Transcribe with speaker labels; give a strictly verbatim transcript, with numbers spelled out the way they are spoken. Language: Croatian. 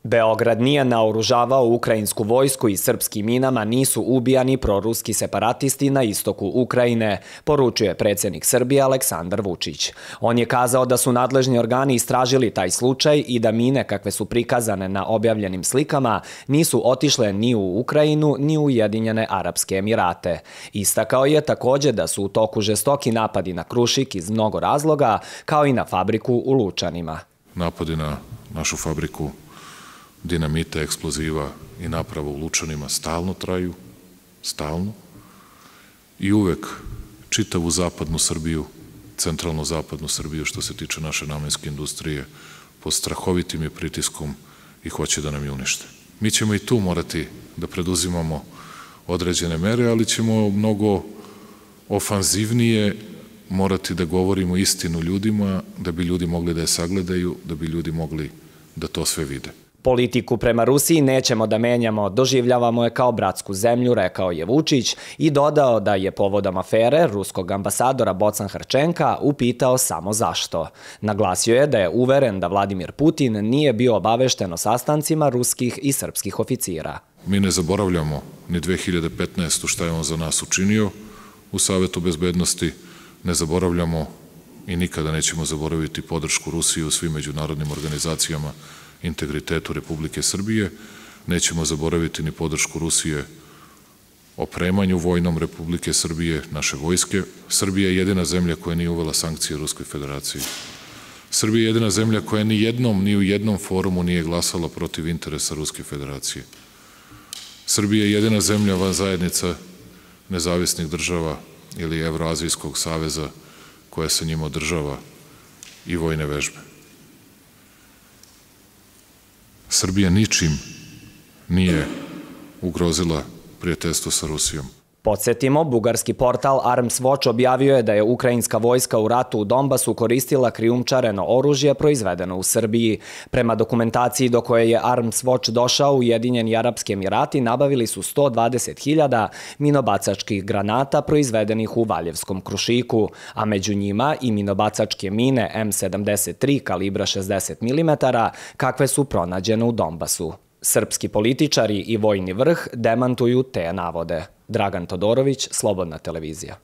Speaker 1: Beograd nije naoružavao ukrajinsku vojsku i srpskim minama nisu ubijani proruski separatisti na istoku Ukrajine, poručuje predsjednik Srbije Aleksandar Vučić. On je kazao da su nadležni organi istražili taj slučaj i da mine kakve su prikazane na objavljenim slikama nisu otišle ni u Ukrajinu ni u Ujedinjene Arapske Emirate. Istakao je također da su u toku žestoki napadi na Krušik iz mnogo razloga, kao i na fabriku u Lučanima.
Speaker 2: Napadi na našu fabriku dinamita, eksploziva i naprava u Lučanima stalno traju, stalno, i uvek čitavu zapadnu Srbiju, centralno zapadnu Srbiju, što se tiče naše namenske industrije, pod strahovitim je pritiskom i hoće da nam je unište. Mi ćemo i tu morati da preduzimamo određene mere, ali ćemo mnogo ofanzivnije morati da govorimo istinu ljudima, da bi ljudi mogli da je sagledaju, da bi ljudi mogli da to sve vide.
Speaker 1: Politiku prema Rusiji nećemo da menjamo, doživljavamo je kao bratsku zemlju, rekao je Vučić i dodao da je povodom afere ruskog ambasadora Bocan Hrčenka upitao samo zašto. Naglasio je da je uveren da Vladimir Putin nije bio obavešten o sastancima ruskih i srpskih oficira.
Speaker 2: Mi ne zaboravljamo ni dve hiljade petnaeste. šta je on za nas učinio u Savetu bezbednosti, ne zaboravljamo i nikada nećemo zaboraviti podršku Rusije u svim međunarodnim organizacijama integritetu Republike Srbije, nećemo zaboraviti ni podršku Rusije opremanju vojnom Republike Srbije, naše vojske. Srbija je jedina zemlja koja nije uvela sankcije Ruskoj federaciji. Srbija je jedina zemlja koja ni jednom, ni u jednom forumu nije glasala protiv interesa Ruske federacije. Srbija je jedina zemlja van zajednica nezavisnih država ili Evroazijskog saveza koja sa njima održava i vojne vežbe. Srbija ničim nije ugrozila prijateljstvo sa Rusijom.
Speaker 1: Podsjetimo, bugarski portal Arms Watch objavio je da je ukrajinska vojska u ratu u Donbasu koristila krijumčareno oružje proizvedeno u Srbiji. Prema dokumentaciji do koje je Arms Watch došao, Ujedinjeni Arapski Emirati nabavili su sto dvadeset hiljada minobacačkih granata proizvedenih u Valjevskom Krušiku, a među njima i minobacačke mine M sedamdeset tri kalibra šezdeset milimetara kakve su pronađene u Donbasu. Srpski političari i vojni vrh demantuju te navode. Dragan Todorović, Slobodna televizija.